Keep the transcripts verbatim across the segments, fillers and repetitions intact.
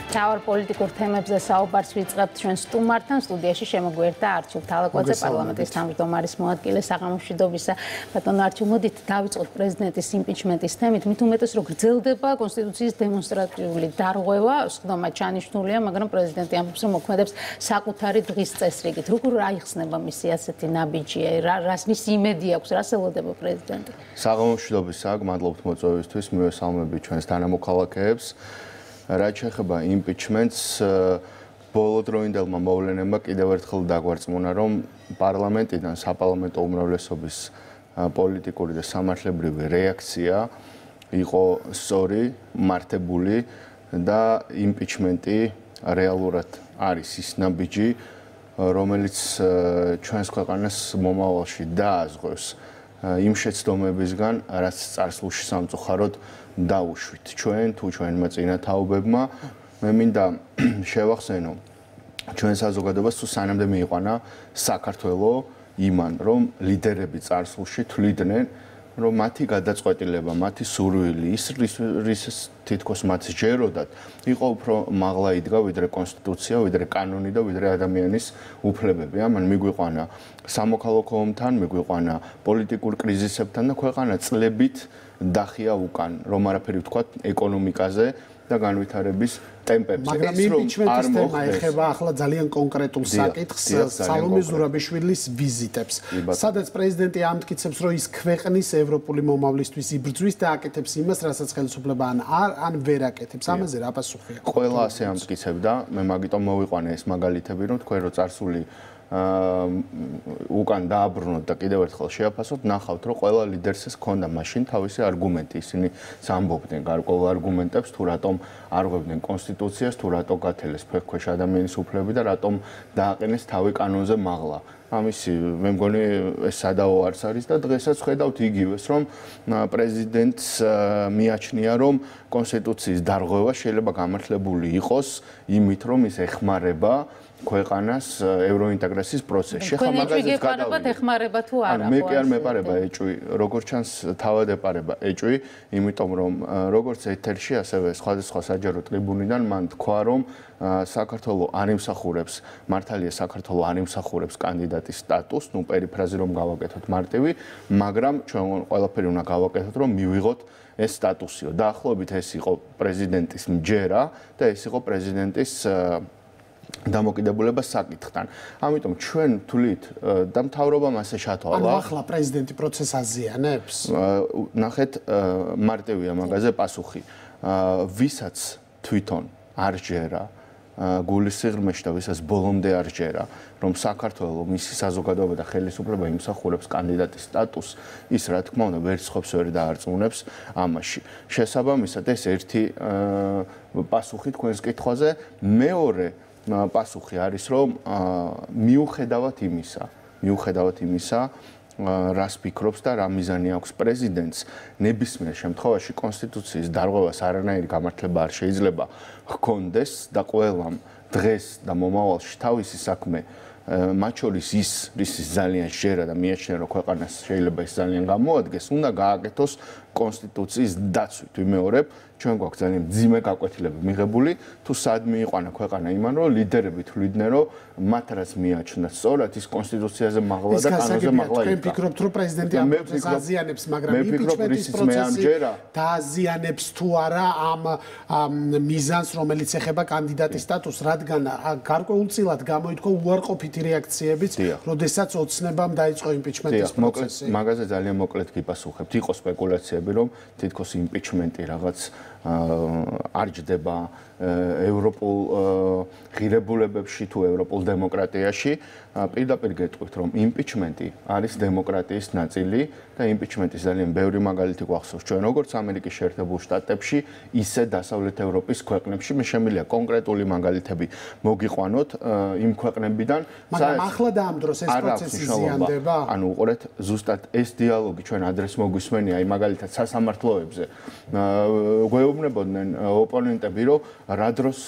მთავარ პოლიტიკურ თემებზე საუბარს ვიწყებთ ჩვენ სტუმართან. სტუდიაში შემოგვერთა არჩილ თალაკვაძე, პარლამენტის თავმჯდომარის მოადგილე საღამომშვიდობისა. ბატონო არჩილ, მოდით დავიწყოთ პრეზიდენტის იმპიჩმენტის თემით. მით უმეტეს რომ გრძელდება კონსტიტუციის დემონსტრატიული დარღვევა, სხდომა ჩანიშნულია, მაგრამ პრეზიდენტი ამბობს, რომ მოქმედებს საკუთარი დღის წესრიგით. როგორ აიხსნება მისი ასეთი ნაბიჯი? რას მის იმედი აქვს, რას ელოდება პრეზიდენტი? საღამომშვიდობისა, გმადლობთ მოწვევისთვის, მივესალმებით ჩვენს თანამოქალაქეებს. რაც შეეხება იმპიჩმენტს, ბოლოდროინდელმა მოვლენებმა კიდევ ერთხელ დაგვარწმუნა, რომ პარლამენტიდან საპარლამენტო უმრავლესობის პოლიტიკური და სამართლებრივი რეაქცია იყო სწორი, მართებული და იმპიჩმენტი რეალურად არის ის ნაბიჯი, რომელიც ჩვენს ქვეყანას მომავალში დააზღვევს იმ შეცდომებისგან, რაც წარსულში სამწუხაროდ დაუშვით ჩვენ თუ ჩვენმა წინათაობებმა. მე მინდა შევახსენო ჩვენ საზოგადოებას თუ სანამდე მიიყვანა საქართველო იმან, რომ ლიდერები წარსულში თვლიდნენ, რომ მათი გადაწყვეტილება, მათი სურვილი, ის რის თითქოს მათ სჯეროდათ, იყო უფრო მაღლა იდგა ვიდრე კონსტიტუცია, ვიდრე კანონი და ვიდრე ადამიანის უფლებები. ამან მიგვიყვანა სამოქალაქო ომთან, მიგვიყვანა პოლიტიკურ კრიზისებთან და ქვეყანა წლებით დახია უკან, რომ არაფერი ვთქვათ ეკონომიკაზე და განვითარების ტემპებზე. მაგრამ იმპიჩმენტის თემა ეხება ახლა ძალიან კონკრეტულ საკითხს, სალომე ზურაბიშვილის ვიზიტებს. სადაც პრეზიდენტი ამტკიცებს, რომ ის ქვეყნის ევროპული მომავლისთვის იბრძვის და აკეთებს იმას, რასაც ხელისუფლება ან არ ან ვერ აკეთებს. ამაზე რა პასუხი აქვს? ყველა ასე ამტკიცებდა, მე მაგიტომ მოვიყვანე ეს მაგალითები, რომ თქვენ რო წარსული უკან დააბრუნოთ და კიდევ ერთხელ შეაფასოთ, ნახავთ, რომ ყველა ლიდერს ჰქონდა მაშინ თავისი არგუმენტი. ისინი სამბობდნენ გარკვეულ არგუმენტებს, თუ რატომ არ ღვევდნენ კონსტიტუციას, თუ რატომ გათელეს ფეხქვეშ ადამიანის უფლებები და რატომ დააყენეს თავი კანონზე მაღლა. ამისი მე მგონი ეს სადაო არც არის და დღესაც ხედავთ იგივეს, რომ პრეზიდენტს მიაჩნია, რომ კონსტიტუციის დარღვევა შეიძლება გამართლებული იყოს იმით, რომ ის ეხმარება ქვეყანას ევროინტეგრაციის პროცესში. ხა მაგაზეც გადავიდეთ. ეხმარება თუ არა? მე კი არ მეპარება ეჭვი, როგორც ჩანს თავად ეპარება ეჭვი, იმიტომ რომ როგორც ეთერში, ასევე სხვადასხვა საჯარო ტრიბუნიდან მან თქვა, რომ საქართველო არ იმსახურებს, მართალია საქართველო არ იმსახურებს კანდიდატის სტატუსს, ნუ პერიფრაზი რომ გავაკეთოთ მარტივი, მაგრამ ჩვენ ყველაფერი უნდა გავაკეთოთ, რომ მივიღოთ ეს სტატუსიო. დაახლოებით ეს იყო პრეზიდენტის მჯერა და ეს იყო პრეზიდენტის დამოკიდებულება საკითხთან. ამიტომ ჩვენ თვლით და მთავრობამ ასე ჩათვალა. ანუ ახლა პრეზიდენტი პროცესს აზიანებს? ნახეთ, მარტივია მაგაზე პასუხი. ვისაც თვითონ არ ჯერა გულის სიღრმეში და ვისაც ბოლომდე არ ჯერა, რომ საქართველოს მისი საზოგადოება და ხელისუფლება იმსახურებს კანდიდატის სტატუსს, ის რა თქმა უნდა ვერც ხვებს ვერ დაარწმუნებს ამაში. შესაბამისად ეს ერთი პასუხი თქვენს კითხვაზე, მეორე პასუხი არის, რომ მიუხედავად იმისა, მიუხედავად იმისა, რას ფიქრობს და რა მიზანი აქვს პრეზიდენტს, ნებისმიერ შემთხვევაში კონსტიტუციის დარღვევას არანაირი გამართლება არ შეიძლება ჰქონდეს და ყველამ დღეს და მომავალში თავისი საქმე, მათ შორის ის, რისის ძალიან შეერა და მიაჩნია, რომ ქვეყანას შეიძლება ის ძალიან გამოადგეს, უნდა გააკეთოს კონსტიტუციის დაცვით. ვიმეორებ, ჩვენ გვაქვს ძალიან მძიმე გაკვეთილები მიღებული, თუ სად მიიყვანა ქვეყანა იმან, რომ ლიდერები თვლიდნენ, რომ მათ რაც მიაჩნდათ სწორად ის კონსტიტუციაზე მაღლა და კანონზე მაღლა იყო. თქვენ ფიქრობთ, რომ პრეზიდენტი ამ პროცესს აზიანებს, მაგრამ იმპიჩმენტის პროცესი დააზიანებს თუ არა ამ მიზანს, რომელიც ეხება კანდიდატის სტატუსს, რადგან გარკვეულწილად გამოითქვა უარყოფითი რეაქციებიც, როდესაც ოცნებამ დაიწყო იმპიჩმენტის პროცესი. მაგაზე ძალიან მოკლედ გიპასუხებთ. იყო სპეკულაციები, რომ თითქოს იმპიჩმენტი რაღაც არ ჯდება ევროპულ ღირებულებებში თუ ევროპულ დემოკრატიაში. პირდაპირ გეტყვით, რომ იმპიჩმენტი არის დემოკრატიის ნაწილი და იმპიჩმენტის ძალიან ბევრი მაგალითი გვახსოვს ჩვენ როგორც ამერიკის შეერთებულ შტატებში, ისე დასავლეთ ევროპის ქვეყნებში. მე შემიძლია კონკრეტული მაგალითები მოგიყვანოთ იმ ქვეყნებიდან, მაგრამ ახლა და ამ დროს ეს პროცესი ზიანდება. ანუ უყურეთ, ზუსტად ეს დიალოგი ჩვენ ადრეს მოგვისმენია, აი მაგალითად სასამართლოებზე. გეუბნებოდნენ ოპონენტები, რომ რა დროს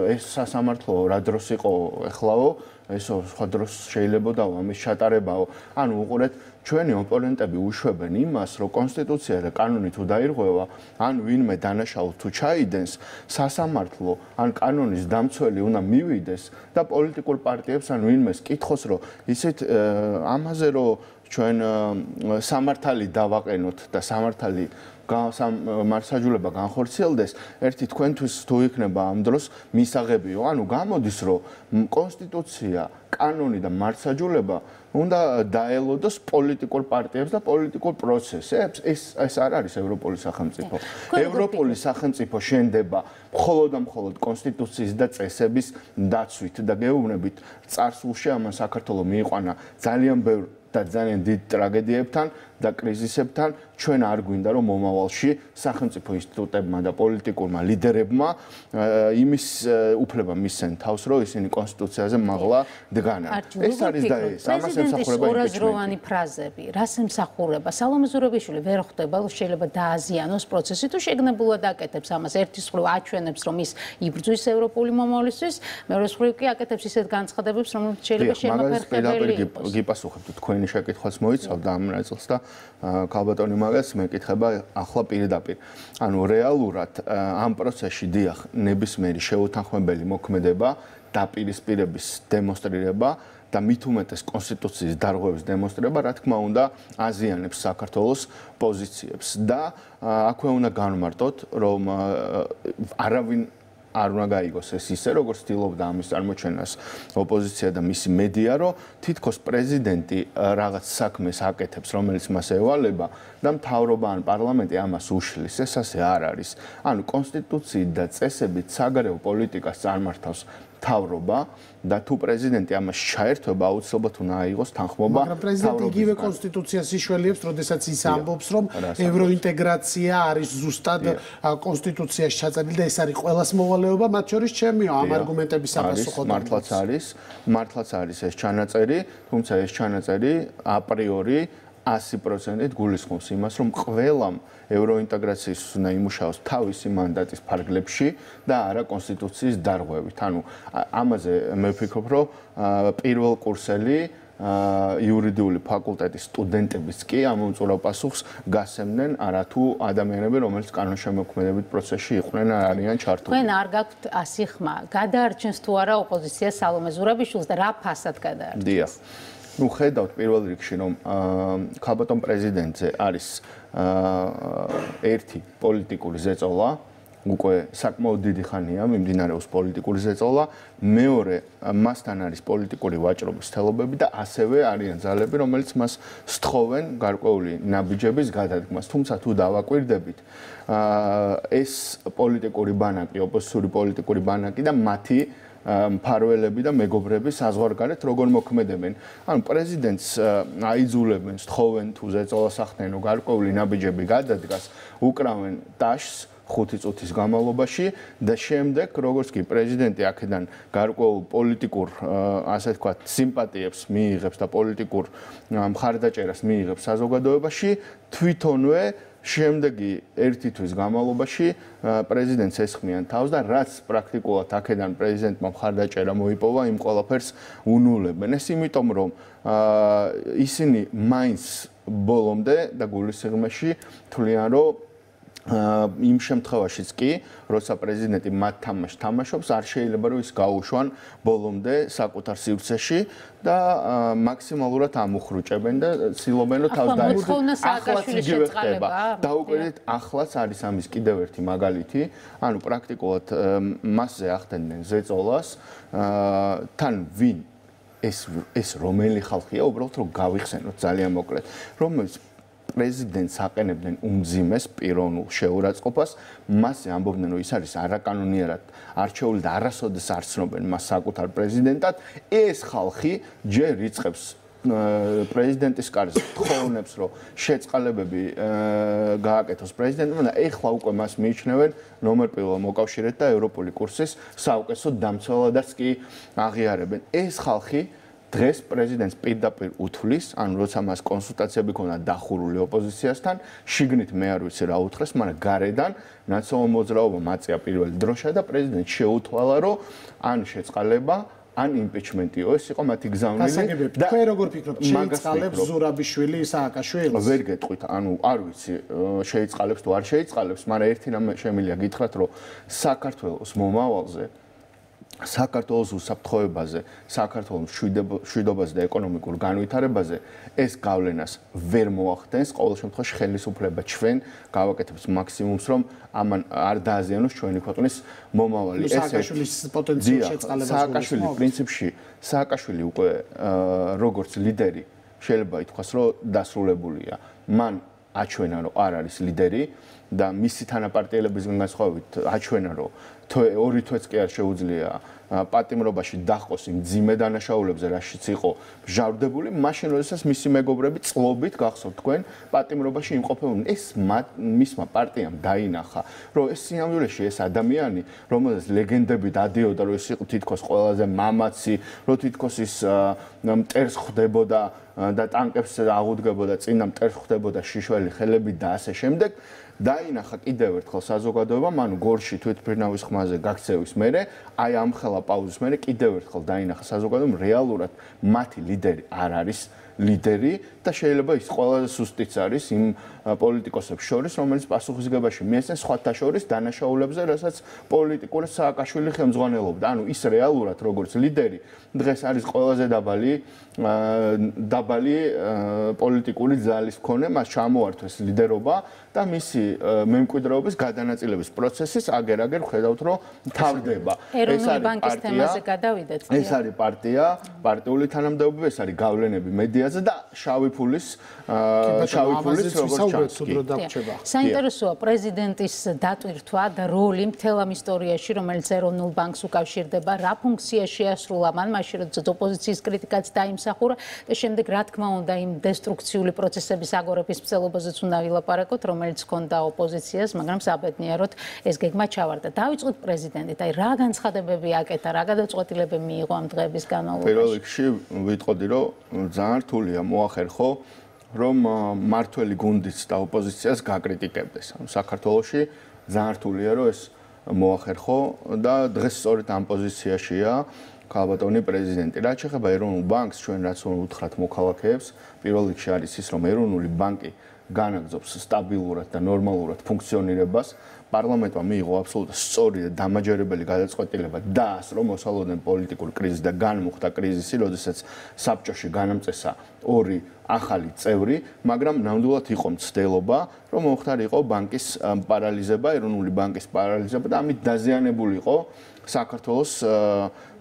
ეს სასამართლო, რა დროს იყო ეხლაო, ესო სხვა დროს შეიძლება და ამის ჩატარებაო. ანუ უყურეთ, ჩვენი ოპონენტები უშვებენ იმას, რომ კონსტიტუცია და კანონი თუ დაირღვევა, ან ვინმე დანაშაულს თუ ჩაიდენს, სასამართლო ან კანონის დამცველი უნდა მივიდეს და პოლიტიკურ პარტიებს ან ვინმეს კითხოს, რომ ისეთ ამაზე რომ ჩვენ სამართალი დავაყენოთ და სამართალი სამართალება განხორციელდეს, ერთი თქვენთვის თუ იქნება ამ დროს მისაღებიო, ანუ გამოდის, რომ კონსტიტუცია, კანონი და მართლმსაჯულება უნდა დაელოდოს პოლიტიკურ პარტიებს და პოლიტიკურ პროცესებს. ეს ეს არ არის ევროპული სახელმწიფო. ევროპული სახელმწიფო შენდება მხოლოდ და მხოლოდ კონსტიტუციის და წესების დაცვით და გეუბნებით, წარსულში ამან საქართველოს მიიყვანა ძალიან ბევრ და ძალიან დიდ ტრაგედიებთან და კრიზისებთან. ჩვენ არ გვინდა რომ მომავალში სახელმწიფო ინსტიტუტებმა და პოლიტიკურმა ლიდერებმა იმის უფლება მისცენ თავს, რომ ისინი კონსტიტუციაზე მაღლა დგანან. ეს არის და ეს ამას ემსახურება ორაზროვანი ფრაზები. რას ემსახურება? სალომე ზურაბიშვილი ვერ ხვდება, რომ შეიძლება დააზიანოს პროცესი თუ შეგნებულად აკეთებს ამას. ერთის მხრივ აჩვენებს, რომ ის იბრძვის ევროპული მომავლისთვის, მეორეს მხრივ კი აკეთებს ისეთ განცხადებებს, რომელიც შეიძლება შემაფერხებელი იყოს. გიპასუხებთ თქვენი შეკითხვას მოიცავდა ამ ნაწილს და ქალბატონი მაგას მეკითხება ახლა პირდაპირ. ანუ რეალურად ამ პროცესში დიახ, ნებისმიერი შეუთანხმებელი მოქმედება, დაპირისპირების დემონსტრირება და მით უმეტეს კონსტიტუციის დარღვევის დემონსტრირება, რა თქმა უნდა, აზიანებს საქართველოს პოზიციებს და აქვე უნდა განვმარტოთ, რომ არავინ არ უნდა გაიგოს ეს ისე, როგორც ცდილობდა ამის წარმოჩენას ოპოზიცია და მისი მედია, რომ თითქოს პრეზიდენტი რაღაც საქმეს აკეთებს, რომელიც მას ევალება და მთავრობა ან პარლამენტი ამას უშლის. ეს ასე არ არის. ანუ კონსტიტუციით და წესებით საგარეო პოლიტიკას წარმართავს მთავრობა და თუ პრეზიდენტი ამას ჩაერთვება, აუცილებლად უნდა აიღოს თანხმობა. მაგრამ პრეზიდენტი იგივე კონსტიტუციას იშველიებს, როდესაც ის ამბობს, რომ ევროინტეგრაცია არის ზუსტად კონსტიტუციაში ჩაწერილი და ეს არის ყველას მოვალეობა, მათ შორის ჩემიო ამ არგუმენტების საპასუხოდ. მართლაც არის, მართლაც არის ეს ჩანაწერი, თუმცა ეს ჩანაწერი აპრიორი ასი პროცენტით გულისხმობს იმას, რომ ყველამ ევროინტეგრაციის უნდა იმუშაოს თავისი მანდატის ფარგლებში და არა კონსტიტუციის დარღვევით. ანუ ამაზე მე ვფიქრობ, რომ პირველ კურსელი იურიდიული ფაკულტეტის სტუდენტებიც კი ამ უმწურავ პასუხს გასცემდნენ არათუ ადამიანები, რომელიც კანონშემოქმედებით პროცესში იყვნენ არ არიან ჩართული. თქვენ არ გაქვთ ასი ხმა, გადაარჩენს თუ არა ოპოზიცია სალომე ზურაბიშვილს და რა ფასად გადაარჩენს? დიახ. ну ხედავთ პირველ რიგში რომ ქალბატონ პრეზიდენტზე არის ერთი პოლიტიკური ზეწოლა უკვე საკმაოდ დიდი ხანია მიმდინარეობს პოლიტიკური ზეწოლა მეორე მასთან არის პოლიტიკური ვაჭრობის თელობები და ასევე არიან ძალები რომელიც მას სთხოვენ გარკვეული ნაბიჯების გადადგმას თუმცა თუ დავაკვირდებით ეს პოლიტიკური ბანაკი ოპოზიციური პოლიტიკური ბანაკი და მათი მფარველები და მეგობრები საზღვარგარეთ როგორ მოქმედებენ. ანუ პრეზიდენტს აიძულებენ, სთხოვენ თუ ზეწოლას ახდენო გარკვეული ნაბიჯები გადადგას, უკრავენ ტაშს ხუთი წუთის განმავლობაში და შემდეგ როგორც კი პრეზიდენტი აქედან გარკვეულ პოლიტიკურ ასე ვთქვათ სიმპათიებს მიიღებს და პოლიტიკურ მხარდაჭერას მიიღებს საზოგადოებაში თვითონვე შემდეგი ერთი თვის განმავლობაში პრეზიდენტს ესხმიან თავს და რაც პრაქტიკულად აქედან პრეზიდენტმა მხარდაჭერა მოიპოვა იმ ყველაფერს უნულებენ. ეს იმიტომ რომ ისინი მაინც ბოლომდე და გულისხმში თვლიან რომ იმ შემთხვევაშიც კი, როცა პრეზიდენტი მათ თამაშს თამაშობს, არ შეიძლება რომ ის გაუშვან ბოლომდე საკუთარ სივრცეში და მაქსიმალურად ამუხრუჭებენ და ცდილობენ რომ თავს დაეხმაროს. ახლაც იგივე ხდება. დაუკვირდით, ახლაც არის ამის კიდევ ერთი მაგალითი, ანუ პრაქტიკულად მასზე ახდენდნენ ზეწოლას, თან ვინ ეს ეს რომელი ხალხია, უბრალოდ რომ გავიხსენოთ ძალიან მოკლედ, რომელიც პრეზიდენტს აყენებდნენ უმძიმეს პიროვნულ შეურაცხყოფას, მასზე ამბობდნენ, რომ ის არის არაკანონიერად არჩეული და არასოდეს არ ცნობენ მას საკუთარ პრეზიდენტად. ეს ხალხი ჯერ იწყებს პრეზიდენტის კარზე თხოვნებს, რომ შეწყალებები გააკეთოს პრეზიდენტმა და ეხლა უკვე მას მიიჩნევენ ნომერ პირველ მოკავშირედ და ევროპული კურსის საუკეთესო დამცველადაც კი აღიარებენ. ეს ხალხი დღეს პრეზიდენტს პირდაპირ უთვლის, ანუ როცა მას კონსულტაციები ქონდა დახურული ოპოზიციასთან, შიგნით მე არ ვიცი რა უთხრეს, მაგრამ გარედან ნაციონალურ მოძრაობამ აწია პირველი დროშა და პრეზიდენტს შეუთვალა, რომ ან შეწყალება ან იმპიჩმენტიო, ეს იყო მათი გზავნილი და თქვენ როგორ ფიქრობთ, შეიწყალებს ზურაბიშვილი სააკაშვილს? ვერ გეტყვით, ანუ არ ვიცი, შეიწყალებს თუ არ შეიწყალებს, მაგრამ ერთი რამ შემიძლია გითხრათ, რომ საქართველოს მომავალზე საქართველოს უსაფრთხოებაზე, საქართველოს მშვიდობაზე და ეკონომიკურ განვითარებაზე ეს გავლენას ვერ მოახდენს. ყოველ შემთხვევაში ხელისუფლება ჩვენ გავაკეთებს მაქსიმუმს, რომ ამან არ დააზიანოს ჩვენი ქვეყნის მომავალი. ეს სააკაშვილის პოტენციურ შეწყალებას სააკაშვილი პრინციპში, სააკაშვილი უკვე როგორც ლიდერი შეიძლება ითქვას, რომ დასრულებულია. მან აჩვენა, რომ არ არის ლიდერი და მისი თანაპარტიელებისგან განსხვავებით აჩვენა, რომ ორი თვეც კი არ შეუძლია პატიმრობაში დაჰყოს იმ ძიმე დანაშაულებზე, რაშიც იყო მჟავრდებული, მაშინ როდესაც მისი მეგობრები წლობით გახსოვთ თქვენ პატიმრობაში იმყოფებოდნენ. ეს მისმა პარტიამ დაინახა, რომ ეს სინამდვილეში ეს ადამიანი, რომელსაც ლეგენდები დადიოდა, რომ ის იყო თითქოს ყველაზე მამაცი, რომ თითქოს ის მტერს ხვდებოდა და ტანკებს აღუდგებოდა, წინა მტერს ხვდებოდა შიშველი ხელები და ასე შემდეგ. დაინახა კიდევ ერთხელ საზოგადოებამ, ანუ გორში თვითმფრინავის ხმაზე გაქცევის მერე, აი ამ ხელა პაუზის მერე კიდევ ერთხელ დაინახა საზოგადოებამ, რეალურად მათი ლიდერი არ არის ლიდერი და შეიძლება ის ყველაზე სუსტიც არის იმ პოლიტიკოსებს შორის, რომელიც პასუხისგებაში მიეცენ სხვათა შორის დანაშაულებზე, რასაც პოლიტიკურად სააკაშვილი ხელმძღვანელობდა. ანუ ის რეალურად როგორც ლიდერი დღეს არის ყველაზე დაბალი დაბალი პოლიტიკური ძალის მქონე, მას ჩამოართვეს ლიდერობა და მისი მემკვიდრეობის გადანაწილების პროცესის აგერ-აგერ ხედავთ, რომ თავდება. ეს არის ბანკის თემაზე გადავიდეთ. ეს არის პარტია, პარტიული თანამდებობა, ეს არის გავლენები მედიაზე და შავი ფულის შავი ფულის როგორც საინტერესოა პრეზიდენტის დატვირთვა და როლი მთელ ამ ისტორიაში, რომელიც ეროვნულ ბანკს უკავშირდება, რა ფუნქცია შეასრულა მან, მაშინ როდესაც ოპოზიციის კრიტიკაც დაიმსახურა და შემდეგ რა თქმა უნდა იმ დესტრუქციული პროცესების აგორების მცდელობაზეც უნდა ვილაპარაკოთ, რომელიც ჰქონდა ოპოზიციას, მაგრამ საბედნიეროდ ეს გეგმა ჩავარდა. დავიწყოთ პრეზიდენტით, აი რა განცხადებები აკეთა, რა გადაწყვეტილებები მიიღო ამ დღეების განმავლობაში? პირველ რიგში ვიტყოდი, რომ ძალიან რთულია მოახერხო რომ მართველი გუნდიც და ოპოზიციას გაკრიტიკებდეს. ანუ საქართველოში ძალიან რთულია რომ ეს მოახერხო და დღეს სწორედ ამ პოზიციაშია ქალბატონი პრეზიდენტი. რაც შეეხება ეროვნულ ბანკს, ჩვენ რაც უთხრათ მოქალაქეებს, პირველ რიგში არის ის, რომ ეროვნული ბანკი განაგრძობს სტაბილურად და ნორმალურად ფუნქციონირებას. პარლამენტმა მიიღო აბსოლუტურად სწორი და დამაჯერებელი გადაწყვეტილება დაასრო მოსალოდნელ პოლიტიკურ კრიზისს და განმუხტა კრიზისი, როდესაც საბჭოში განამწესა ორი ახალი წევრი, მაგრამ ნამდვილად იყო მცდელობა, რომ მოხდარიყო ბანკის პარალიზება, ეროვნული ბანკის პარალიზება და ამით დაზიანებული იყო საქართველოს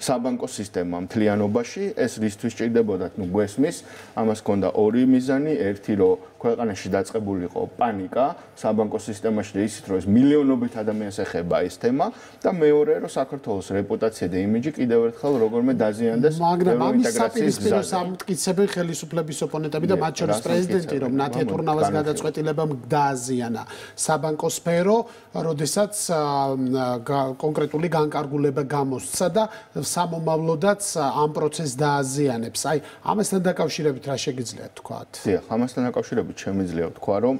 საბანკო სისტემა მთლიანობაში. ეს რისთვის სჭირდებოდათ, ნუ გვესმის, ამას ჰქონდა ორი მიზანი, ერთი რომ ქვეყანაში დაწყებულიყო პანიკა საბანკო სისტემაში და ისიც რომ ეს მილიონობით ადამიანს ეხება ეს თემა და მეორე რომ საქართველოს რეპუტაცია და იმიჯი კიდევ ერთხელ როგორმე დაზიანდეს ევროინტეგრაციის გზაზე. სამტკიცებენ ხელისუფლების ოპონენტები და მათ შორის პრეზიდენტი, რომ ნათია თურნავას გადაწყვეტილებამ დააზიანა საბანკო სფერო, როდესაც კონკრეტული განკარგულება გამოსცა და სამომავლოდაც ამ პროცესს დააზიანებს. აი, ამასთან დაკავშირებით რა შეგიძლიათ თქვათ? დიახ, ამასთან დაკავშირებით შემიძლია ვთქვა, რომ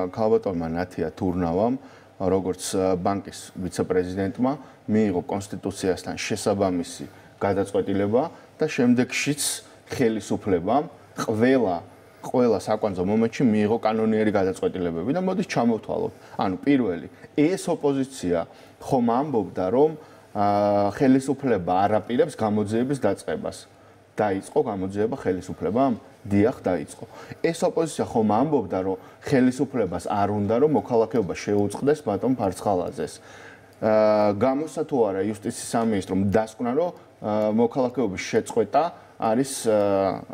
ქალბატონმა ნათია თურნავამ, როგორც ბანკის ვიცე-პრეზიდენტმა, მიიღო კონსტიტუციასთან შესაბამისი გადაწყვეტილება და შემდეგშიც ხელისუფლებამ ყველა ყველა საკვანძო მომენტში მიიღო კანონიერი გადაწყვეტილებები და მოდით ჩამოვთვალოთ. ანუ პირველი, ეს ოპოზიცია ხომ ამბობდა, რომ ხელისუფლება არ აპირებს გამოძიების დაწყებას. დაიწყო გამოძიება ხელისუფლებამ? დიახ, დაიწყო. ეს ოპოზიცია ხომ ამბობდა, რომ ხელისუფლებას არ უნდა, რომ მოქალაქეობა შეუწყდეს ბატონ ფარცხალაძეს. გამოსცა თუ არა იუსტიციის სამინისტრომ დასკვნა, რომ მოქალაქეობის შეწყვეტა არის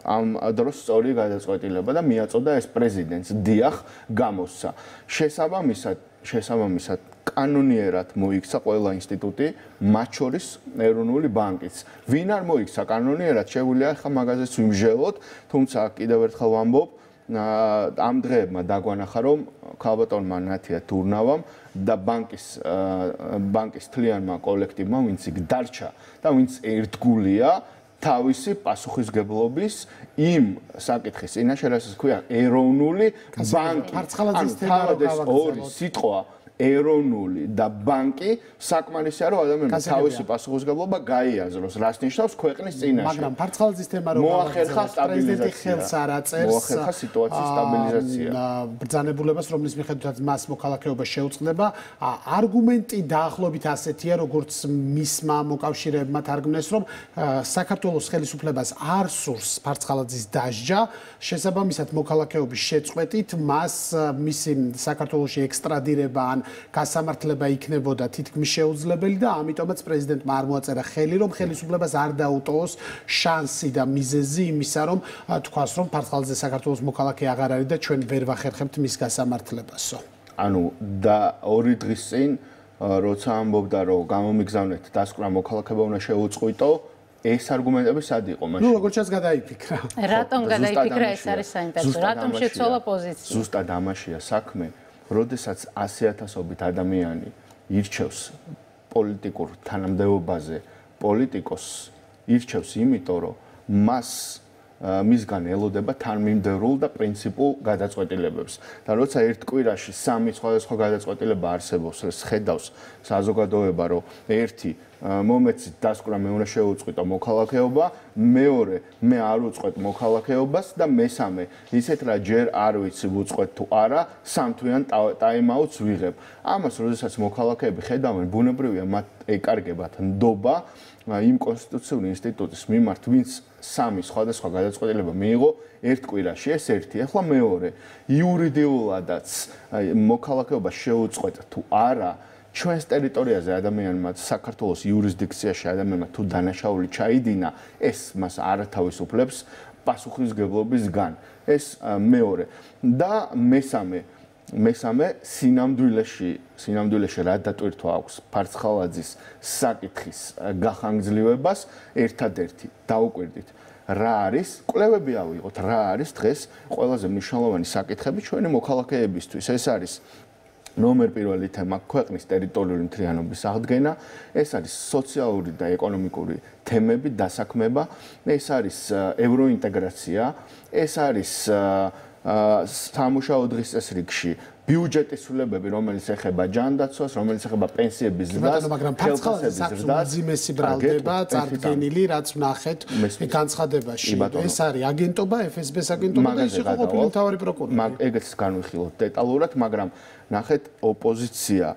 ამ დროს სწორი გადაწყვეტილება და მიაწოდა ეს პრეზიდენტს. დიახ, გამოსცა. შესაბამისად, შესაბამისად კანონიერად მოიქცა ყველა ინსტიტუტი, მათ შორის ეროვნული ბანკიც. ვინ არ მოიქცა კანონიერად, შეგვიძლია ახლა მაგაზეც ვიმჟელოთ, თუმცა კიდევ ერთხელ ვამბობ, ამ დღეებმა დაგვანახა, რომ ქალბატონმა ნათია თურნავამ და ბანკის ბანკის თლიანმა კოლექტივმა, ვინც იქ დარჩა და ვინც ერთგულია, თავისი პასუხისგებლობის იმ საკითხის წინაშე, რასაც ქვია ეროვნული ბანკი. ანუ თავად ორი სიტყვა ეროვნული და ბანკი საკმარისია, რომ ადამიანს თავისი პასუხისგებლობა გაიაზროს, რაც ნიშნავს ქვეყნის წინაშე. მაგრამ ფარცხალაძის თემა რომ მოახერხა პრეზიდენტი ხელს არ აწერს, მოახერხა სიტუაციის სტაბილიზაცია. ბრძანებულებას, რომლის მიხედვითაც მას მოქალაქეობა შეუწყდება, არგუმენტი დაახლოებით ასეთია, როგორც მისმა მოკავშირეებმა თარგმნეს, რომ საქართველოს ხელისუფლებას არ სურს ფარცხალაძის დასჯა, შესაბამისად მოქალაქეობის შეწყვეტით მას მისი საქართველოში ექსტრადირება ან გასამართლება იქნებოდა თითქმის შეუძლებელი და ამიტომაც პრეზიდენტმა არ მოაწერა ხელი, რომ ხელისუფლებას არ დაუტოვოს შანსი და მიზეზი იმისა, რომ თქვას, რომ ფარცხალაძე საქართველოს მოქალაქე აღარ არის და ჩვენ ვერ ვახერხებთ მის გასამართლებასო. ანუ და ორი დღის წინ, როცა ამბობდა, რომ გამომიგზავნეთ დასკვნა მოქალაქეობა უნდა შეუწყვიტო, ეს არგუმენტები სად იყო მაშინ? ნუ როგორც ჩანს გადაიფიქრა. რატომ გადაიფიქრა ეს არის საინტერესო? რატომ შეცვალა პოზიცია? ზუსტად ამაშია საქმე. როდესაც ასი ათასობით ადამიანი ირჩევს პოლიტიკურ თანამდებობაზე პოლიტიკოს ირჩევს იმიტომ რომ მას მისგან ელოდება თანმიმდევრულ და პრინციპულ გადაწყვეტილებებს და როცა ერთ კვირაში სამი სხვადასხვა გადაწყვეტილება არსებობს ეს ხედავს საზოგადოება რომ ერთი მომეცით დასკვნა მე უნდა შეუწყვიტო მოქალაქეობა, მეორე მე არ უწყვეტ მოქალაქეობას და მესამე ისეთ რა ჯერ არ ვიცი ვუწყვეტ თუ არა, სამთვიან ტაიმაუტს ვიღებ. ამას როდესაც მოქალაქეები ხედავენ, ბუნებრივია მათ ეკარგებათ ნდობა იმ კონსტიტუციური ინსტიტუტის მიმართ, ვინც სამი სხვადასხვა გადაწყვეტილება მიიღო ერთ კვირაში, ეს ერთი. ახლა მეორე, იურიდიულადაც მოქალაქეობა შეუწყვეტ თუ არა ჩვენს ტერიტორიაზე ადამიანმა საქართველოს იურისდიქციაში ადამიანმა თუ დანაშაული ჩაიდინა, ეს მას არ თავისუფლებს პასუხისგებლობისგან. ეს მეორე და მესამე მესამე სინამდვილეში სინამდვილეში რა დატვირთვა აქვს ფარცხალაძის საკითხის გახანგრძლივებას ერთადერთი დაუკვირდით რა არის კვლევები ავიღოთ რა არის დღეს ყველაზე მნიშვნელოვანი საკითხები ჩვენი მოქალაქეებისთვის ეს არის ნომერ პირველი თემა ქვეყნის ტერიტორიული მთლიანობის აღდგენა, ეს არის სოციალური და ეკონომიკური თემები, დასაქმება, ეს არის ევროინტეგრაცია, ეს არის სამუშაო დღის წესრიგში ბიუჯეტის ცვლილებები, რომელიც ეხება ჯანდაცვას, რომელიც ეხება პენსიების ზრდას, მაგრამ ფარცხალაძის უძიმესი ბრალდება წარდგენილი, რაც ვნახეთ განცხადებაში. ეს არის აგენტობა, ეფ ეს ბეს აგენტობა და ის იყო ყოფილი მთავარი პროკურორი. მაგ ეგეც განვიხილოთ დეტალურად, მაგრამ ნახეთ ოპოზიცია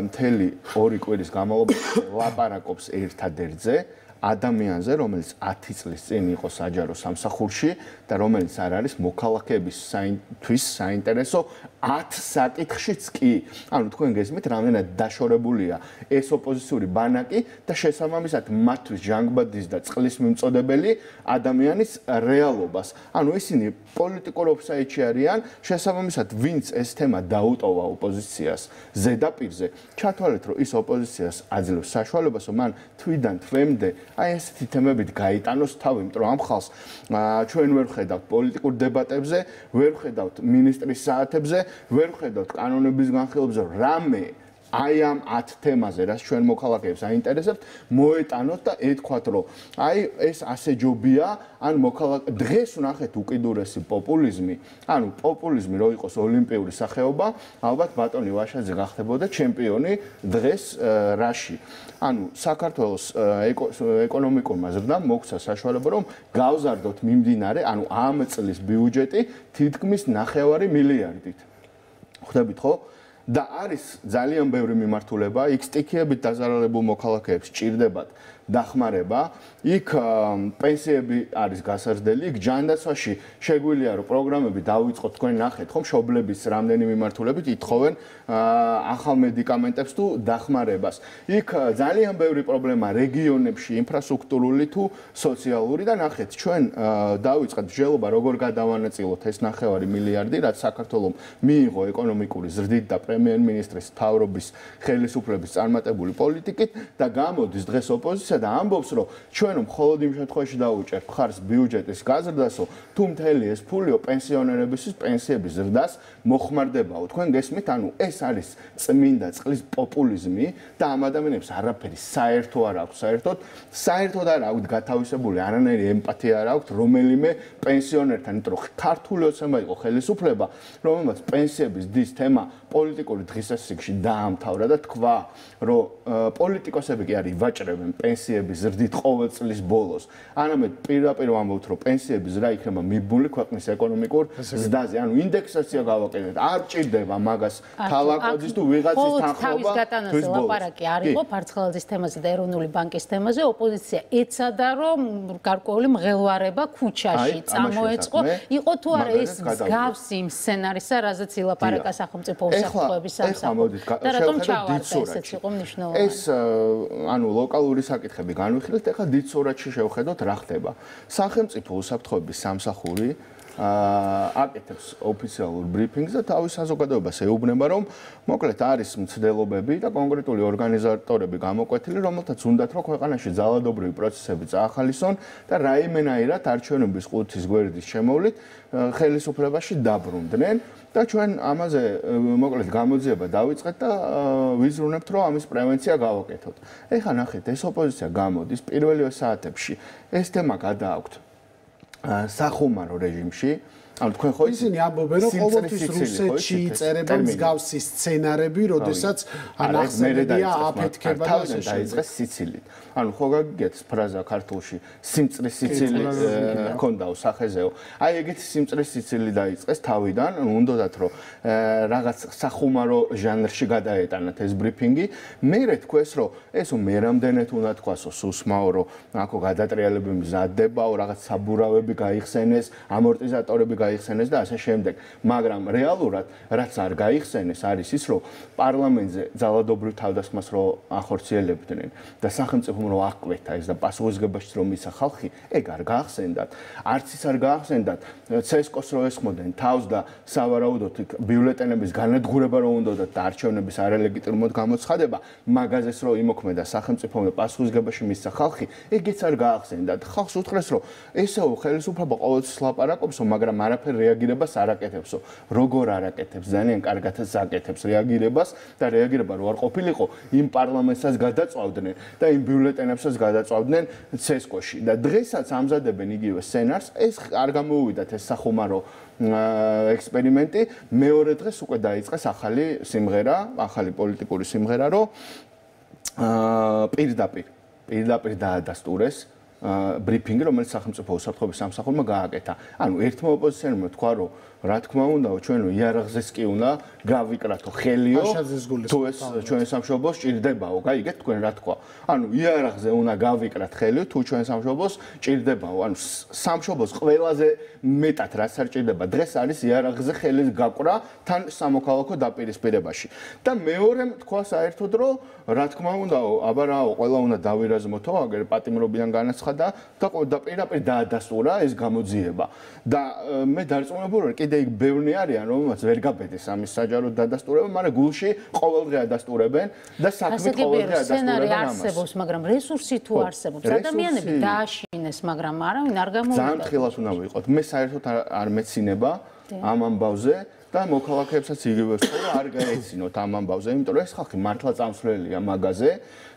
მთელი ორი კვირის განმავლობაში ლაპარაკობს ერთადერთზე ადამიანზე, რომელიც ათი წლის წინ იყო საჯარო სამსახურში და რომელიც არ არის მოქალაქეებისთვის საინტერესო ათ საკითხშიც კი. ანუ თქვენ გესმით, რამდენად დაშორებულია ეს ოპოზიციური ბანაკი და შესაბამისად მათთვის ჟანგბადის და წყლის მიმწოდებელი ადამიანის რეალობას. ანუ ისინი პოლიტიკურ ოფსაიდში არიან, შესაბამისად ვინც ეს თემა დაუტოვა ოპოზიციას ზედაპირზე, ჩათვალეთ, რომ ის ოპოზიციას აძლევს საშუალებას, რომ მან თვიდან თვემდე აი ესეთი თემებით გაიტანოს თავი, იმიტომ რომ ამ ხალხს ჩვენ ვერ ვხედავთ პოლიტიკურ დებატებზე, ვერ ვხედავთ მინისტრის საათებზე, ვერ ვხედავთ კანონების განხილვებზე, რამე აი ამ ათ თემაზე, რაც ჩვენ მოქალაქეებს აინტერესებთ, მოეტანოთ და ეთქვათ, რომ აი ეს ასე ჯობია, ან მოქალაქე დღეს ვნახეთ უკიდურესი პოპულიზმი, ანუ პოპულიზმი რო იყოს ოლიმპიური სახეობა, ალბათ ბატონი ვაშაძე გახდებოდა ჩემპიონი დღეს რაში. ანუ საქართველოს ეკონომიკურმა ზრდამ მოგვცა საშუალება, რომ გავზარდოთ მიმდინარე, ანუ ამ წლის ბიუჯეტი თითქმის ნახევარი მილიარდით. ხვდებით ხო? და არის ძალიან ბევრი მიმართულება, იქ სტიქიებით დაზარალებულ მოქალაქეებს ჭირდებათ დახმარება, იქ პენსიები არის გასაზრდელი, იქ ჯანდაცვაში შეგვიძლია რომ პროგრამები დავიწყოთ, თქვენ ნახეთ ხომ მშობლების რამდენი მიმართულებით ითხოვენ ახალ მედიკამენტებს თუ დახმარებას. იქ ძალიან ბევრი პრობლემა რეგიონებში, ინფრასტრუქტურული თუ სოციალური და ნახეთ, ჩვენ დავიწყეთ მსჯელობა როგორ გადავანაწილოთ ეს ნახევარი მილიარდი, რაც საქართველომ მიიღო ეკონომიკური ზრდით და პრემიერ-მინისტრის მთავრობის ხელისუფლების წარმატებული პოლიტიკით და გამოდის დღეს ოპოზიცია და ამბობს, რომ ჩვენ მხოლოდ იმ შემთხვევაში დავუჭერთ მხარს ბიუჯეტის გაზრდასო, თუ მთელი ეს ფულიო პენსიონერებისთვის პენსიების ზრდას მოხმარდებაო. თქვენ გესმით, ანუ ეს არის წმინდა წყლის პოპულიზმი და ამ ადამიანებს არაფერი საერთო არ აქვს, საერთოდ საერთოდ არ აქვს გათავისებული არანაირი ემპათია არ აქვს რომელიმე პენსიონერთან, იმიტომ რომ ქართული ოცნება იყო ხელისუფლება, რომელმაც პენსიების დის თემა პოლიტიკური დღისასრიგში დაამთავრა და თქვა, რომ პოლიტიკოსები კი არ ივაჭრებენ პენსიების ზრდით ყოველ წლის ბოლოს. არამედ პირდაპირ ვამბობთ, რომ პენსიების ზრდა იქნება მიბმული ქვეყნის ეკონომიკურ ზრდაზე. ანუ ინდექსაცია გავაკეთეთ. არ ჭირდება მაგას თალაკოძის თუ ვიღაცის თანხმობა. თავის გატანაზე ლაპარაკი არ იყო ფარცხალაძის თემაზე და ეროვნული ბანკის თემაზე. ოპოზიცია ეცადა, რომ გარკვეული მღელვარება ქუჩაში წამოეწყო. იყო თუ არა ეს მსგავსი იმ სცენარისა, რაზეც ილაპარაკა სახელმწიფო უსაფრთხოების სამსახური. და რატომ ჩავარდა ესეც იყო მნიშვნელოვანი. ეს ანუ ლოკალური საკითხები განვიხილეთ, ეხლა დიდ სურათში შევხედოთ რა ხდება. სახელმწიფო უსაფრთხოების სამსახური აკეთებს ოფიციალურ ბრიფინგს და თავის საზოგადოებას ეუბნება, რომ მოკლედ არის მცდელობები და კონკრეტული ორგანიზატორები გამოკვეთილი, რომელთაც უნდათ რომ ქვეყანაში ძალადობრივი პროცესები წაახალისონ და რაიმენაირად არჩევნების ყუთის გვერდის შემოვლით ხელისუფლებაში დაბრუნდნენ და ჩვენ ამაზე მოკლედ გამოძიება დავიწყეთ და ვიზრუნებთ, რომ ამის პრევენცია გავაკეთოთ. ეხლა ნახეთ, ეს ოპოზიცია გამოდის პირველივე საათებში, ეს თემა გადააქვთ სახუმარო რეჟიმში. ანუ თქვენ ხო ისინი ამბობენ, რომ ყოველთვის რუსეთში იწერება მსგავსი სცენარები, როდესაც ანახსენებია აფეთქება და ასე დაიწყეს სიცილით. ანუ ხო გაგიგეთ ფრაზა ქართულში სიმწრის სიცილი ქონდაო სახეზეო. აი ეგეთი სიმწრის სიცილი დაიწყეს თავიდან, ანუ უნდათ რომ რაღაც სახუმარო ჟანრში გადაეტანათ ეს ბრიფინგი. მერე თქვეს, რომ ესო მერამდენეთ უნდა თქვასო სუსმაო, რომ აქო გადატრიალები მზადდებაო, რაღაც საბურავები გაიხსენეს, ამორტიზატორები გაიხსენეს და ასე შემდეგ. მაგრამ რეალურად რაც არ გაიხსენეს არის ის, რომ პარლამენტზე ძალადობრივ თავდასხმას რო ახორციელებდნენ და სახელმწიფომ რო აღკვეთა ეს და პასუხისგებაშიც რომ ისა ხალხი, ეგ არ გაახსენდათ. არც ის არ გაახსენდათ ცესკოს რო ესხმოდნენ თავს და სავარაუდოდ ბიულეტენების განადგურება რო უნდათ და არჩევნების არალეგიტიმურად გამოცხადება, მაგაზეს რო იმოქმედა სახელმწიფომ და პასუხისგებაში მისცა ხალხი, ეგეც არ გაახსენდათ. ხალხს უთხრეს, რომ ესეო ხელისუფლება ყოველთვის ლაპარაკობსო, მაგრამ არაფერ რეაგირებას არ აკეთებსო. როგორ არ აკეთებს? ძალიან კარგადაც აკეთებს რეაგირებას და რეაგირება რო არ ყოფილიყო, იმ პარლამენტსაც გადაწვავდნენ და იმ ბიულეტენებსაც გადაწვავდნენ ცესკოში. და დღესაც ამზადებენ იგივე სცენარს, ეს არ გამოუვიდათ ეს სახუმარო ექსპერიმენტი, მეორე დღეს უკვე დაიწყეს ახალი სიმღერა, ახალი პოლიტიკური სიმღერა, რომ პირდაპირ პირდაპირ დაადასტურეს ბრიფინგი, რომელიც სახელმწიფო უსაფრთხოების სამსახურმა გააკეთა. ანუ ერთმა ოპოზიციონერმა თქვა, რომ რა თქმა უნდაო, ჩვენო იარაღზეს კი უნდა გავიკრათო ხელიო, თუ ეს ჩვენ სამშობლოს ჭირდებაო, გაიგეთ თქვენ რა თქვა. ანუ იარაღზე უნდა გავიკრათ ხელიო, თუ ჩვენ სამშობლოს ჭირდებაო. ანუ სამშობლოს ყველაზე მეტად რაც არ ჭირდება დღეს არის იარაღზე ხელის გაკვრა თან სამოქალაქო დაპირისპირებაში. და მეორემ თქვა საერთოდ, რომ რა თქმა უნდაო, აბა რაო, ყველა უნდა დავირაზმოთო, აგერ პატიმრობიდან განაცხადა და და პირდაპირ დაადასტურა ეს გამოძიება. და მე დარწმუნებული ვარ, კიდე იქ ბევრი არიან, რომელმაც ვერ გაბედეს ამის საჯარო დადასტურება, მაგრამ გულში ყოველდღე ადასტურებენ და საქმე ყოველდღე ადასტურებენ ამას. არსებობს, მაგრამ რესურსი თუ არსებობს, ადამიანები დააშინეს, მაგრამ არავინ არ გამოვიდა. ძალიან თხილად უნდა ვიყოთ. მე საერთოდ არ მეცინება ამ ამბავზე და მოქალაქეებსაც იგივე ვთქვა, რომ არ გაეცინოთ ამ ამბავზე, იმიტომ რომ ეს ხალხი მართლა წამსვლელია მაგაზე.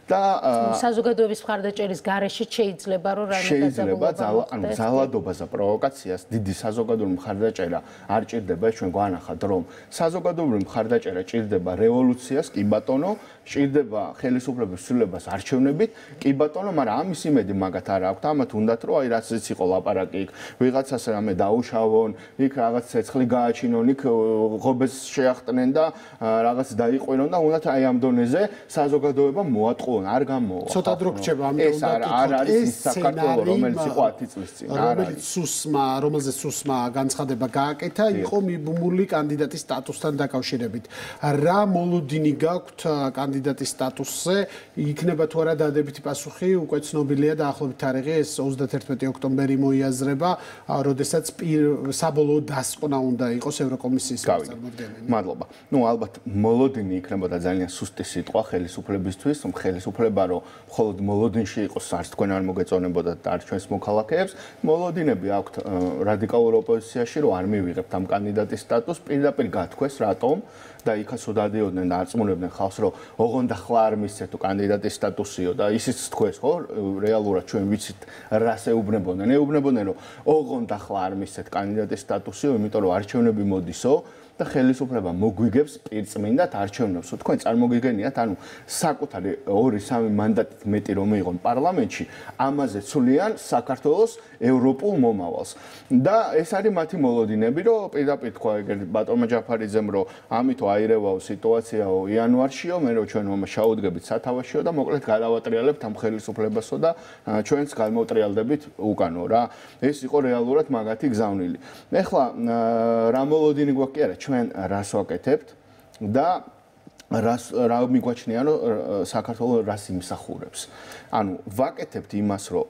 და საზოგადოების მხარდაჭერის გარეშე შეიძლება რომ რამე შეიძლება ანუ ძალადობას და პროვოკაციას დიდი საზოგადოებრივი მხარდაჭერა არ ჭირდება, ჩვენ გვანახათ რომ საზოგადოებრივი მხარდაჭერა ჭირდება რევოლუციას, კი ბატონო, ჭირდება ხელისუფლების ცვლილებას არჩევნებით, კი ბატონო, მაგრამ ამის იმედი მაგათ არ აქვს. ამათ უნდათ რომ აი რაციც იყო ლაპარაკი იქ ვიღაცას რამე დაუშავონ, იქ რაღაც ცეცხლი გააჩინონ, იქ ღობეს შეახტნენ და რაღაც დაიყვინონ და უნდათ აი ამ დონეზე საზოგადოება მოატყუონ. არ გამოვა. ცოტა დრო გრჩება, ამიტომ უნდა არ არის ის საქართველო, რომელიც იყო ათი წლის წინ. რომელიც სუსმა, რომელზეც სუსმა განცხადება გააკეთა, იყო მიბმული კანდიდატის სტატუსთან დაკავშირებით. რა მოლოდინი გაქვთ კანდიდატის კანდიდატის სტატუსზე იქნება თუ არა დადებითი პასუხი, უკვე ცნობილია დაახლოებით თარიღი ეს ოცდაათერთმეტი ოქტომბერი მოიაზრება, როდესაც საბოლოო დასკვნა უნდა იყოს ევროკომისიის წარმომადგენელი. მადლობა. ნუ ალბათ მოლოდინი იქნებოდა ძალიან სუსტი სიტყვა ხელისუფლებისთვის, რომ ხელისუფლება რომ მხოლოდ მოლოდინში იყოს, არც თქვენ არ მოგეწონებოდა და არც ჩვენს მოქალაქეებს, მოლოდინები აქვთ რადიკალურ ოპოზიციაში, რომ არ მივიღებთ ამ კანდიდატის სტატუსს, პირდაპირ გათქვეს, რატომ და იქაც უდადიოდნენ და არწმუნებდნენ ხალხს, რომ ოღონდ ახლა არ მისცეთ კანდიდატის სტატუსიო და ისიც თქვეს, ხო, რეალურად ჩვენ ვიცით რას ეუბნებოდნენ. ეუბნებოდნენ, რომ ოღონდ ახლა არ მისცეთ კანდიდატის სტატუსიო, იმიტომ რომ არჩევნები მოდისო და ხელისუფლება მოგვიგებს პირწმინდად არჩევნებს. თქვენ წარმოგიგენიათ, ანუ საკუთარი ორი სამი მანდატით მეტი რომ მიიღონ პარლამენტში, ამაზე ცვლიან საქართველოს ევროპულ მომავალს. და ეს არის მათი მოლოდინები, რომ პირდაპირ თქვა ეგერ ბატონმა ჯაფარიძემ, რომ ამითო აირევაო სიტუაციაო იანვარშიო, მე რომ ჩვენ შაუდგებით სათავეშიო და მოკლედ გადავატრიალებთ ამ ხელისუფლებასო და ჩვენც გამოვტრიალდებით უკანო რა. ეს იყო რეალურად მაგათი გზავნილი. ეხლა რა მოლოდინი გვაქვს კი არა, ჩვენ რას ვაკეთებთ და რას რა მიგვაჩნია რომ საქართველოს რას იმსახურებს. ანუ ვაკეთებთ იმას, რომ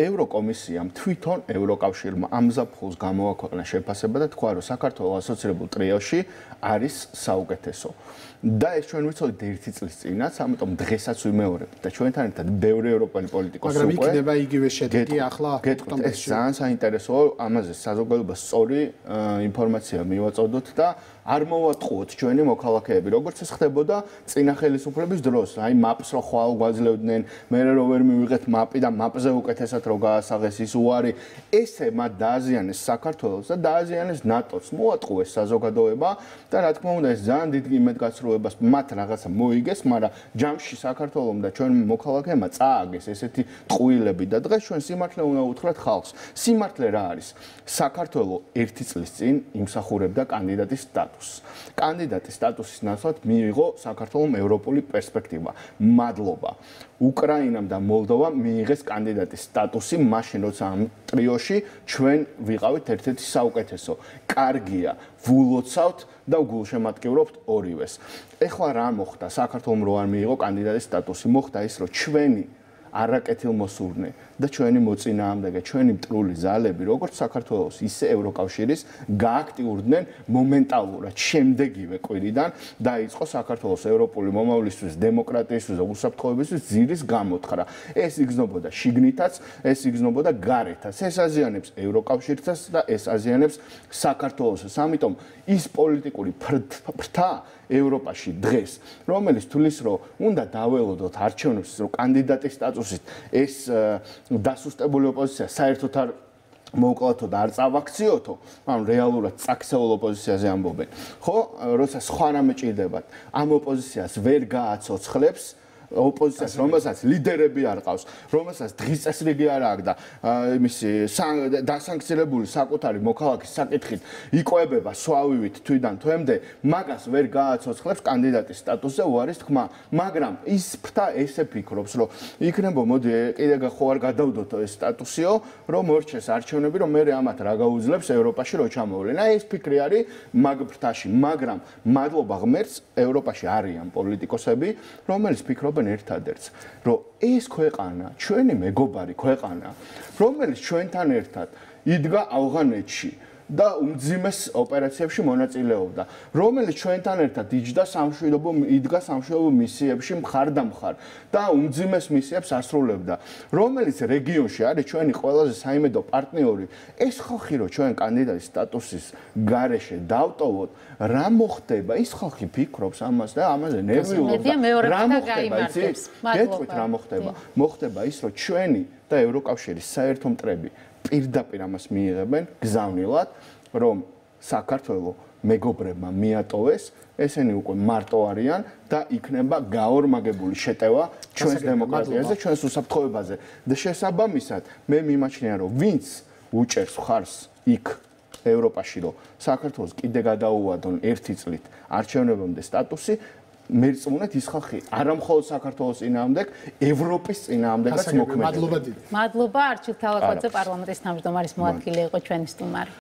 ევროკომისიამ თვითონ ევროკავშირმა ამზაფხულს გამოაქვეყნა შეფასება და თქვა, რომ საქართველოს ასოცირებულ ტრიოში არის საუკეთესო. და ეს ჩვენ ვიცოდით ერთი წლის წინაც, ამიტომ დღესაც ვიმეორებთ და ჩვენთან ერთად ბევრი ევროპელი პოლიტიკოსი უკვე. მაგრამ იქნება იგივე შედეგი ახლა ოქტომბერში. ეს ძალიან საინტერესოა, ამაზე საზოგადოებას სწორი ინფორმაცია მივაწოდოთ და არ მოვატყუოთ ჩვენი მოქალაქეები, როგორც ეს ხდებოდა წინა ხელისუფლების დროს. აი მაპს რო ხვალ გვაძლევდნენ, მე რო ვერ მივიღეთ მაპი და მაპზე უკეთესად რო გაასაღეს ის უარი, ესე მათ დააზიანეს საქართველოს და დააზიანეს ნატოს. მოატყუეს საზოგადოება და რა თქმა უნდა ეს ძალიან დიდ იმედგაცრუებას მათ რაღაცა მოიგეს, მაგრამ ჯამში საქართველოს და ჩვენ მოქალაქეებმა წააგეს ესეთი ტყუილები და დღეს ჩვენ სიმართლე უნდა უთხრათ ხალხს. სიმართლე რა არის? საქართველოს ერთი წლის წინ იმსახურებდა კანდიდატის სტატუსს. კანდიდატის სტატუსის ნაცვლად მიიღო საქართველოს ევროპული პერსპექტივა. მადლობა. უკრაინამ და მოლდოვამ მიიღეს კანდიდატის სტატუსი მაშინ, როცა ამ ტრიოში ჩვენ ვიყავით ერთ-ერთი საუკეთესო. კარგია, ვულოცავთ და გულშემატკივრობთ ორივეს. ეხლა რა მოხდა? საქართველოს რო არ მიიღო კანდიდატის სტატუსი, მოხდა ის, რომ ჩვენი არაკეთილმოსურნე და ჩვენი მოწინააღმდეგე, ჩვენი მტრული ძალები, როგორც საქართველოს, ისე ევროკავშირის გააქტიურდნენ მომენტალურად შემდეგივე კვირიდან დაიწყო საქართველოს ევროპული მომავლისთვის, დემოკრატიისთვის და უსაფრთხოებისთვის ძირის გამოთხრა. ეს იგრძნობოდა შიგნითაც, ეს იგრძნობოდა გარეთაც. ეს აზიანებს ევროკავშირსაც და ეს აზიანებს საქართველოსაც. ამიტომ ის პოლიტიკური ფრთა ევროპაში დღეს, რომელიც თulis რომ უნდა დაველოდოთ არჩევნებს, რომ კანდიდატის სტატუსით ეს დასუსტებული ოპოზიცია საერთოდ არ მოუკლათო და არ წავაქციოთო, ანუ რეალურად წაქცეულ ოპოზიციაზე ამბობენ. ხო, როცა სხვა რამე ჭირდებათ, ამ ოპოზიციას ვერ გააცოცხლებს ოპოზიციას, რომელსაც ლიდერები არ ყავს, რომელსაც დღის წესრიგი არ აქვს და იმისი დასანქცირებული საკუთარი მოქალაქის საკითხით იკვებება სვავივით თვიდან თვემდე, მაგას ვერ გააცოცხლებს კანდიდატის სტატუსზე უარის თქმა. მაგრამ ის ფრთა ესე ფიქრობს, რომ იქნება მოდი კიდე ხო არ გადავდოთ ეს სტატუსიო, რომ მორჩეს არჩევნები, რომ მე ამათ რა გაუძლებს ევროპაში რო ჩამოვლენ. აი ეს ფიქრი არის მაგ ფრთაში, მაგრამ მადლობა ღმერთს, ევროპაში არიან პოლიტიკოსები, რომელიც ფიქრობენ ერთადერთს, რომ ეს ქვეყანა, ჩვენი მეგობარი ქვეყანა, რომელიც ჩვენთან ერთად იდგა ავღანეთში და უმძიმეს ოპერაციებში მონაწილეობდა, რომელიც ჩვენთან ერთად იჯდა სამშვიდობო იდგა სამშვიდობო მისიებში მხარდამხარ და უმძიმეს მისიებს ასრულებდა, რომელიც რეგიონში არის ჩვენი ყველაზე საიმედო პარტნიორი, ეს ხალხი რო ჩვენ კანდიდატის სტატუსის გარეშე დავტოვოთ, რა მოხდება? ის ხალხი ფიქრობს ამას და ამაზე ნერვიულობს. რა მოხდება? გეტყვით რა მოხდება? მოხდება ის, რომ ჩვენი და ევროკავშირის საერთო მტრები პირდაპირ ამას მიიღებენ გზავნილად, რომ საქართველოს მეგობრებმა მიატოვეს, ესენი უკვე მარტო არიან და იქნება გაორმაგებული შეტევა ჩვენს დემოკრატიაზე, ჩვენს უსაფრთხოებაზე. და შესაბამისად, მე მიმაჩნია, რომ ვინც უჭერს ხარს იქ ევროპაში, რომ საქართველოს კიდე გადაუვადონ ერთი წლით არჩევნებამდე სტატუსი, მერწმუნეთ ის ხალხი არა მხოლოდ საქართველოს წინააღმდეგ, ევროპის წინააღმდეგაც მოქმედებდა. მადლობა დიდი. მადლობა არჩილ თალაკვაძე პარლამენტის თავმჯდომარის მოადგილე იყო ჩვენი სტუმარი.